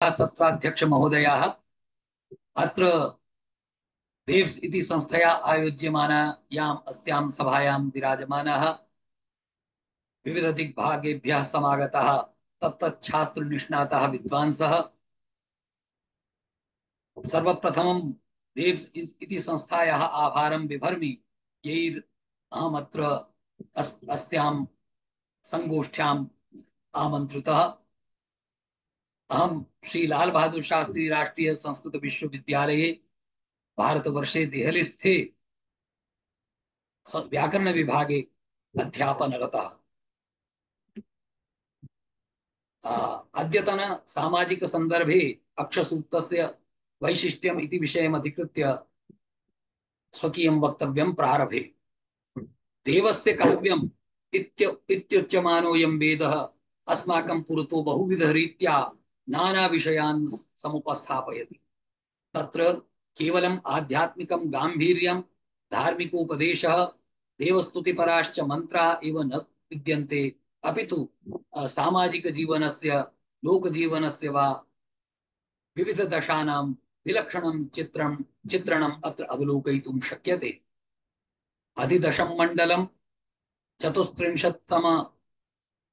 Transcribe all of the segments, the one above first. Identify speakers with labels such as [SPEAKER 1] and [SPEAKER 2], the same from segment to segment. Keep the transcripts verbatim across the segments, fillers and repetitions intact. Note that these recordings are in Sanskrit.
[SPEAKER 1] सत्राध्यक्ष महोदयाः अत्र वेव्स इति संस्थया आयोज्यमानायाम् अस्यां सभायां विराजमानाः विविध दिग्भागेभ्यः समागताः तत्तच्छास्त्र निष्णाताः विद्वांसः सर्वप्रथमं वेव्स इति संस्थायाः आभारं बिभर्मि यैर् अहमत्र अस् अस्यां संगोष्ठ्याम् आमन्त्रितः। अहं श्री लाल बहादुर शास्त्री राष्ट्रीय संस्कृत विश्वविद्यालये भारतवर्षे देहलीस्थे व्याकरण विभागे अध्यापनरतः। अद्यतन सामाजिक संदर्भे अक्षसूक्तस्य वैशिष्ट्यम् इति विषयम् अधिकृत्य स्वकीयं वक्तव्यं प्रारभे। देवस्य काव्यम् इत्य इत्युच्यमानोऽयं वेदः अस्माकं पुरतो बहुविधरीत्या नाना विषयान् समुपस्थापयति। तत्र केवलम् आध्यात्मिकं गाम्भीर्यं धार्मिकोपदेशः देवस्तुतिपराश्च मन्त्रा एव न विद्यन्ते, अपितु सामाजिक जीवनस्य लोकजीवनस्य वा विविध दशानां विलक्षणं चित्रं चित्रणम् अत्र अवलोकयितुं शक्यते। अधिदशं मण्डलं चतुस्त्रिंशत्तम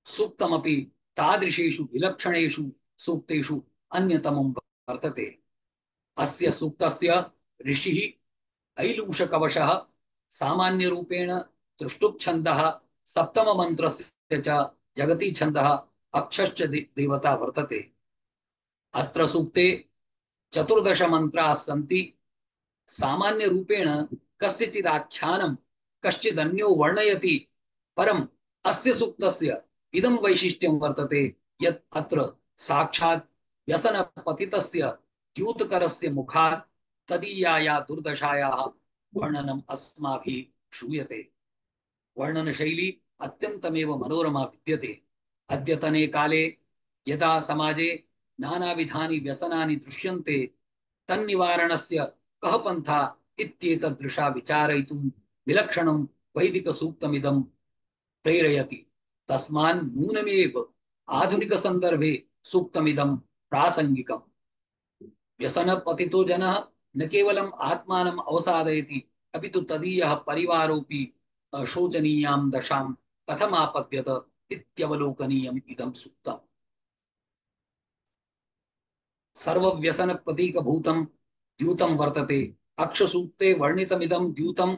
[SPEAKER 1] सूक्तमपि तादृशेषु विलक्षणेषु सूक्तेषु अन्यतमं वर्तते। अस्य सूक्तस्य ऋषिः ऐलूषकवशः सामान्यरूपेण त्रिष्टुप् सप्तममन्त्रस्य च जगती छन्दः अक्षश्च देवता वर्तते। अत्र सूक्ते चतुर्दश मन्त्राः सन्ति। सामान्यरूपेण कस्यचित् आख्यानं कश्चिदन्यो वर्णयति, परम् अस्य सूक्तस्य इदं वैशिष्ट्यं वर्तते यत् अत्र साक्षात् व्यसनपतितस्य द्यूतकरस्य मुखात् तदीयाया दुर्दशायाः वर्णनम् अस्माभिः श्रूयते। वर्णनशैली अत्यन्तमेव मनोरमा विद्यते। अद्यतने काले यदा समाजे नानाविधानि व्यसनानि दृश्यन्ते तन्निवारणस्य कः पन्था इत्येतदृशा विचारयितुं विलक्षणं वैदिकसूक्तमिदं प्रेरयति। तस्मान् नूनमेव आधुनिकसन्दर्भे सूक्तमिदं प्रासङ्गिकम्। व्यसनपतितो जनः न केवलम् आत्मानम् अवसादयति, अपितु तदीयः परिवारोऽपि शोचनीयां दशां कथमापद्यत इत्यवलोकनीयम् इदं सूक्तम्। सर्वव्यसन प्रतीकभूतं द्यूतं वर्तते। अक्षसूक्ते वर्णितमिदं द्यूतं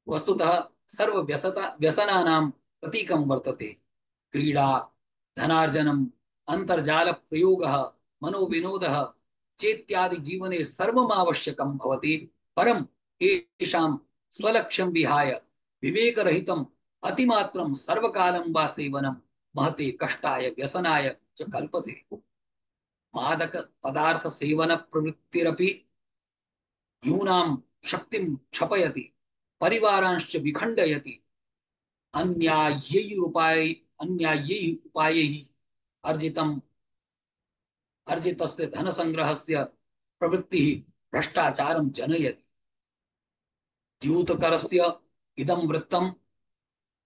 [SPEAKER 1] वस्तुतः सर्वव्यसता व्यसनानां प्रतीकं वर्तते। क्रीडा, धनार्जनम्, अन्तर्जालप्रयोगः, मनोविनोदः चेत्यादि जीवने सर्वमावश्यकं भवति, परम् येषां स्वलक्ष्यं विहाय विवेकरहितम् अतिमात्रं सर्वकालं वा सेवनं महते कष्टाय व्यसनाय च कल्पते। मादक पदार्थ सेवन प्रवृत्तिरपि यूनां शक्तिं क्षपयति, परिवारांश्च विखण्डयति। अन्याय्यैः उपाय अन्याय्यैः उपायैः अर्जितम् अर्जितस्य धनसंग्रहस्य प्रवृत्तिः भ्रष्टाचारं जनयति। द्यूतकरस्य इदं वृत्तं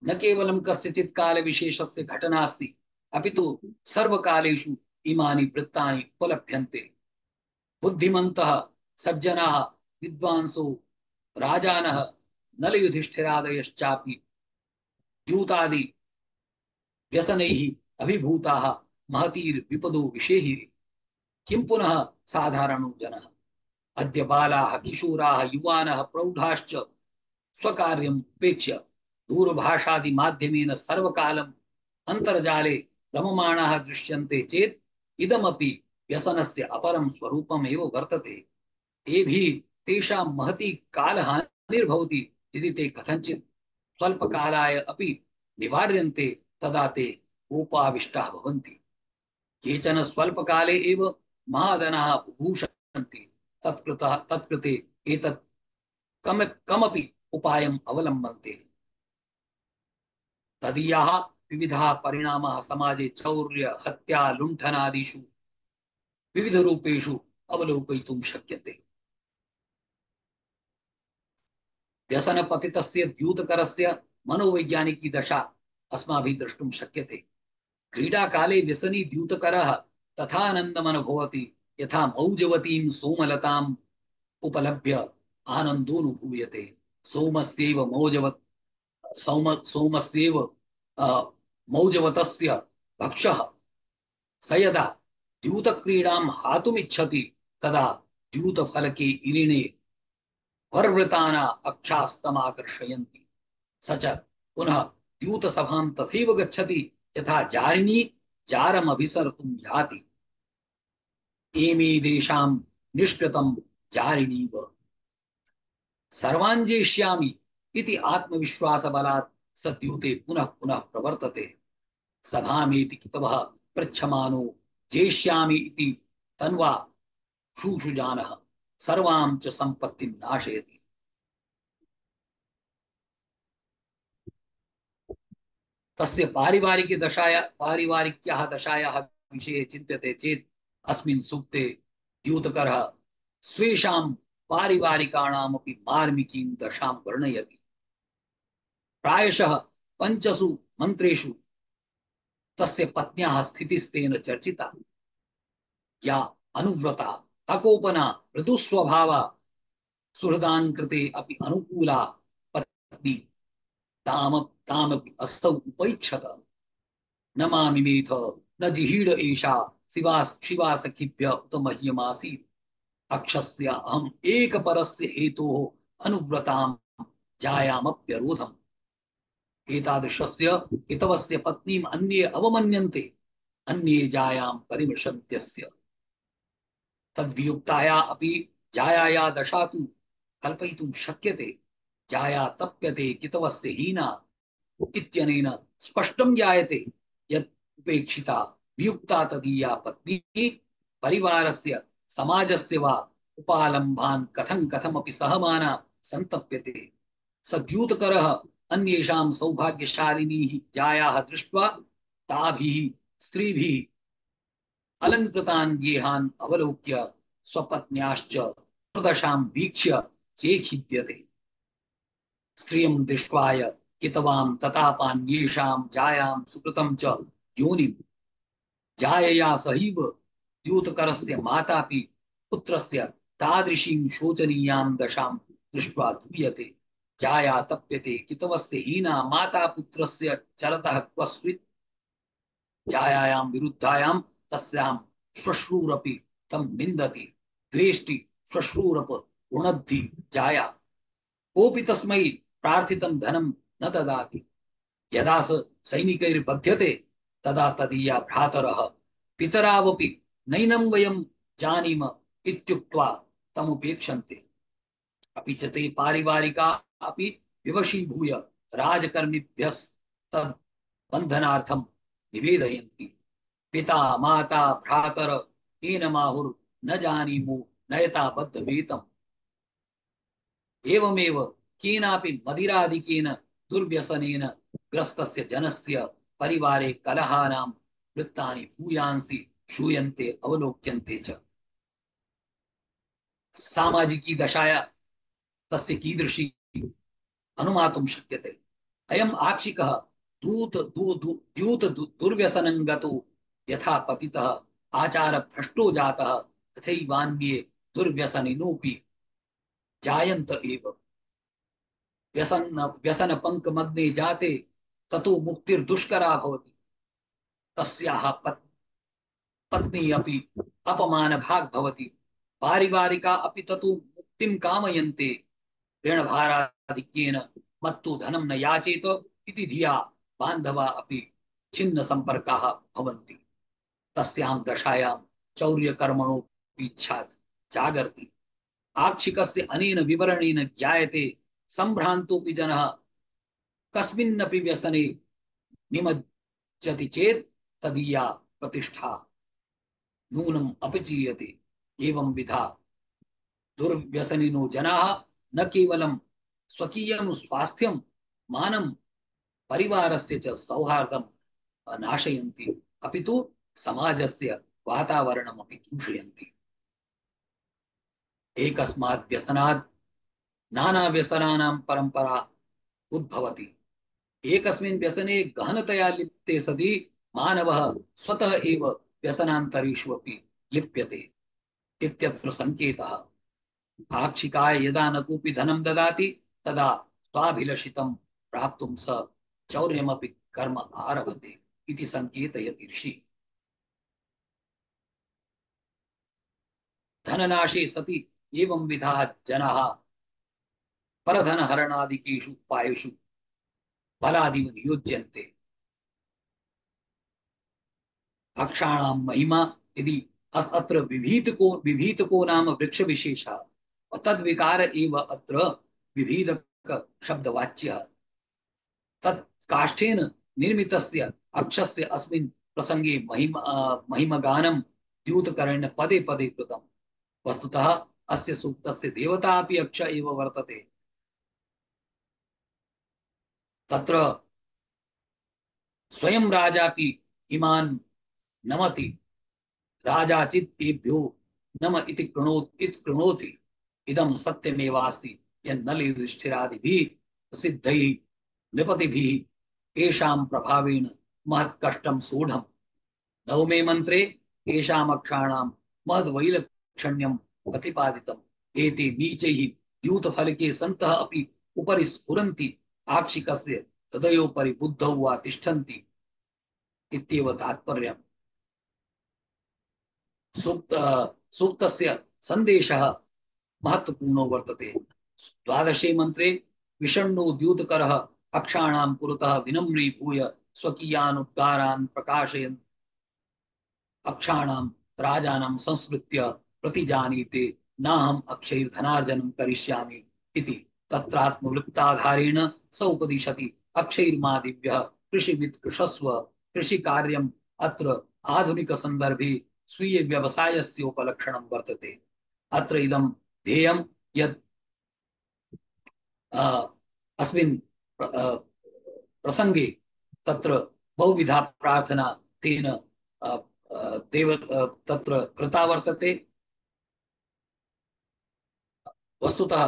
[SPEAKER 1] न केवलं कस्यचित् कालविशेषस्य घटना अस्ति, अपितु सर्वकालेषु इमानि वृत्तानि उपलभ्यन्ते। बुद्धिमन्तः सज्जनाः विद्वांसो राजानः नलयुधिष्ठिरादयश्चापि द्यूतादि व्यसनैः अभिभूताः महतीर्विपदो विषेहिरे। किं पुनः साधारणो जनः? अद्य बालाः, किशोराः, युवानः, प्रौढाश्च स्वकार्यम् उपेक्ष्य दूरभाषादि माध्यमेन सर्वकालम् अन्तर्जाले रममाणाः दृश्यन्ते चेत् इदमपि व्यसनस्य अपरं स्वरूपमेव वर्तते। एभिः तेषां महती कालहानिर्भवति यदि ते कथञ्चित् स्वल्पकालाय अपि निवार्यन्ते, तदा ते कोपाविष्टाः भवन्ति। केचन स्वल्पकाले एव महाधनाः बुभूषन्ति। तत्कृतः तत्कृते एतत् कम कमपि उपायम् अवलम्बन्ते। तदीयाः विविधाः परिणामाः समाजे चौर्य, हत्या, लुण्ठनादिषु विविधरूपेषु अवलोकयितुं शक्यते। व्यसनपतितस्य द्यूतकरस्य मनोवैज्ञानिकी दशा अस्माभिः द्रष्टुं शक्यते। क्रीडाकाले व्यसनी द्यूतकरः तथा आनन्दम् अनुभवति यथा मौजवतीं सोमलताम् उपलभ्य आनन्दोऽनुभूयते। सोमस्यैव मौजवत् सौम सोमस्यैव मौजवतस्य भक्षः स यदा द्यूतक्रीडां हातुमिच्छति तदा द्यूतफलके इरिणे वर्वृताना अक्षास्तमाकर्षयन्ति। स च पुनः द्यूतसभां तथैव गच्छति यथा जारिणी जारमभिसर्तुं याति। एमे देशां निष्कृतं जारिणीव सर्वाञ्जेष्यामि इति आत्मविश्वासबलात् स द्यूते पुनः पुनः प्रवर्तते। सभामेति कितवः पृच्छमानो जेष्यामि इति तन्वा शूशुजानः सर्वां च सम्पत्तिं नाशयति। तस्य पारिवारिक दशाया पारिवारिक्याः दशायाः विषये चिन्त्यते चेत् अस्मिन् सूक्ते द्यूतकरः स्वेषां पारिवारिकाणामपि मार्मिकीं दशां वर्णयति। प्रायशः पञ्चसु मन्त्रेषु तस्य पत्न्याः स्थितिस्तेन चर्चिता। या अनुव्रता अकोपना मृदुस्वभावा सुहृदान् कृते अपि अनुकूला पत्नी ताम तामपि असौ उपैक्षत। न मामिमेथ न जिहीड एषा शिवास शिवासखिभ्य उत मह्यमासीत्। अक्षस्य अहम् एकपरस्य हेतोः अनुव्रतां जायामप्यरोधम्। एतादृशस्य हितवस्य पत्नीम् अन्ये अवमन्यन्ते अन्ये जायां परिमृशन्त्यस्य। तद्वियुक्ताया अपि जायाया दशा तु कल्पयितुं शक्यते। जाया तप्यते कितवस्य हीना इत्यनेन स्पष्टं ज्ञायते यत् उपेक्षिता वियुक्ता तदीया पत्नी परिवारस्य समाजस्य वा उपालम्भान् कथं कथमपि सहमाना सन्तप्यते। स द्यूतकरः अन्येषां सौभाग्यशालिनीः जायाः दृष्ट्वा ताभिः स्त्रीभिः अलङ्कृतान् गेहान् अवलोक्य स्वपत्न्याश्च प्रदशां वीक्ष्य चेखिद्यते। स्त्रियं दृष्ट्वाय कितवां ततापान्येषां जायां सुकृतं च योनिं। जायया सहैव द्यूतकरस्य मातापि पुत्रस्य तादृशीं शोचनीयां दशां दृष्ट्वा धूयते। जाया तप्यते कितवस्य हीना माता पुत्रस्य चरतः क्वस्वित्। जायायां विरुद्धायां तस्यां श्वश्रूरपि तं निन्दति। द्वेष्टि श्वश्रूरप रुणद्धि जाया। कोऽपि तस्मै प्रार्थितं धनं न ददाति। यदा स सैनिकैर्बध्यते तदा तदीया भ्रातरः पितरावपि नैनं वयं जानीम इत्युक्त्वा तमुपेक्षन्ते। अपि च ते पारिवारिका अपि विवशीभूय राजकर्मिभ्यस्तद् बन्धनार्थं निवेदयन्ति। पिता माता भ्रातर एनमाहुर् न जानीमो नयता बद्धवेतम्। एवमेव केनापि मदिरादिकेन दुर्व्यसनेन ग्रस्तस्य जनस्य परिवारे कलहानां वृत्तानि भूयांसि श्रूयन्ते अवलोक्यन्ते च। सामाजिकी दशाया तस्य कीदृशी अनुमातुं शक्यते। अयम् आक्षिकः दूत दू दू द्यूत दुर्व्यसनं गतो यथा पतितः आचार भ्रष्टो जातः तथैवान्ये दुर्व्यसनिनोऽपि जायन्त एव। व्यसन व्यसन पंकमग्ने जाते ततो मुक्तिर्दुष्करा भवति। तस्याः पत्, पत्नी अपि अपमानभाग् भवति। पारिवारिका अपि ततो मुक्तिं कामयन्ते। ऋणभाराधिक्येन मत्तो धनं न याचेत इति धिया बान्धवा अपि छिन्न संपर्काः भवन्ति। तस्यां दशायां चौर्यकर्मणोऽपि इच्छा जागर्ति। आक्षिकस्य अनेन विवरणेन ज्ञायते संभ्रान्तोऽपि जनः कस्मिन्नपि व्यसने निमज्जति चेत् तदीया प्रतिष्ठा नूनम् अपचीयते। एवं विधा दुर्व्यसनिनो जनाः न केवलं स्वकीयं स्वास्थ्यं मानं परिवारस्य च सौहार्दं नाशयन्ति अपितु समाजस्य वातावरणमपि दूषयन्ति। एकस्मात् व्यसनात् नाना व्यसनानां परंपरा उद्भवति। एकस्मिन् व्यसने गहनतया लिप्ते सति मानवः स्वतः एव व्यसनान्तरेषु अपि लिप्यते। इत्यत्र संकेतः। आक्षिकाय यदा न कोऽपि धनं ददाति तदा स्वाभिलषितं प्राप्तुं स चौर्यमपि कर्म आरभते इति संकेतयति ऋषिः। धननाशे सति एवं विधाः जनाः परधनहरणादिकेषु उपायेषु बलादिव नियुज्यन्ते। अक्षाणां महिमा यदि अत्र विभीतको विभीतको नाम वृक्ष विशेषः तद्विकार एव अत्र विभीदक शब्दवाच्यः। तत् काष्ठेन निर्मितस्य अक्षस्य अस्मिन् प्रसंगे महिमा महिमगानं द्यूतकरेण पदे पदे कृतम्। वस्तुतः अस्य सूक्तस्य देवता अपि अक्ष एव वर्तते। तत्र स्वयं राजापि इमान् नमति। राजाचित् एभ्यो नम इति कृणोति इति कृणोति। इदं सत्यमेवास्ति यन्नल युधिष्ठिरादिभिः प्रसिद्धैः नृपतिभिः येषां प्रभावेण महत्कष्टं सोढम्। नवमे मंत्रे येषाम् अक्षाणां महद्वैलक्षण्यं प्रतिपादितम्। एते नीचैः द्यूतफलके सन्तः अपि उपरि स्फुरन्ति आक्षिकस्य हृदयोपरि बुद्धौ वा तिष्ठन्ति इत्येव तात्पर्यम्। सूक्त सूक्तस्य सन्देशः महत्वपूर्णो वर्तते। द्वादशे मंत्रे विषण्णो द्यूतकरः अक्षाणां पुरतः विनम्रीभूय स्वकीयान् उद्गारान् प्रकाशयन् अक्षाणां राजानं संस्मृत्य प्रतिजानीते नाहम् अक्षैर्धनार्जनं करिष्यामि इति तत्रात्मवृत्ताधारेण स उपदिशति अक्षैर्मा दिव्यः कृषिवित् कृषस्व। कृषिकार्यम् अत्र आधुनिक संदर्भे स्वीय व्यवसायस्य उपलक्षणं वर्तते। अत्र इदं ध्येयं यत् अस्मिन् प्रसंगे तत्र बहुविधा प्रार्थना तेन देव तत्र कृता वर्तते। वस्तुतः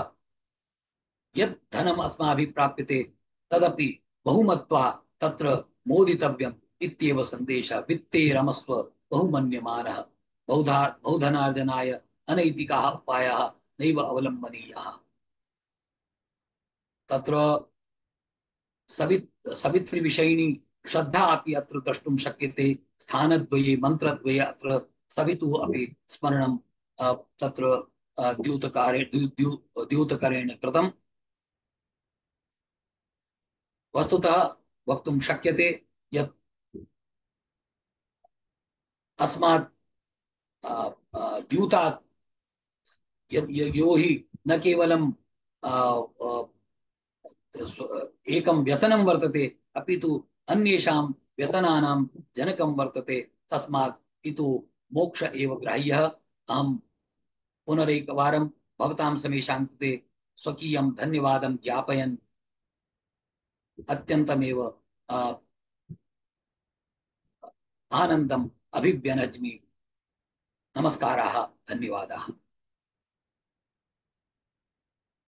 [SPEAKER 1] यत् धनम् अस्माभिः प्राप्यते तदपि बहुमत्वा तत्र मोदितव्यम् इत्येव सन्देशः। वित्ते रमस्व बहुमन्यमानः। बहुधा बहुधनार्जनाय अनैतिकाः उपायाः नैव अवलम्बनीयाः। तत्र सवित् सवितृविषयिणी श्रद्धा अपि अत्र द्रष्टुं शक्यते। स्थानद्वये मन्त्रद्वये अत्र सवितुः अपि स्मरणं तत्र द्यूतकारे द्यू द्यू द्यूतकरेण कृतम्। वस्तुतः वक्तुं शक्यते यत् अस्मात् द्यूतात् यो हि न केवलं एकं व्यसनं वर्तते अपि तु अन्येषां व्यसनानां जनकं वर्तते। तस्मात् इतो मोक्ष एव ग्राह्यः। अहं पुनरेकवारं भवतां समेषां कृते स्वकीयं धन्यवादं ज्ञापयन् अत्यन्तमेव आनन्दम् अभिव्यनज्मि। नमस्काराः, धन्यवादाः।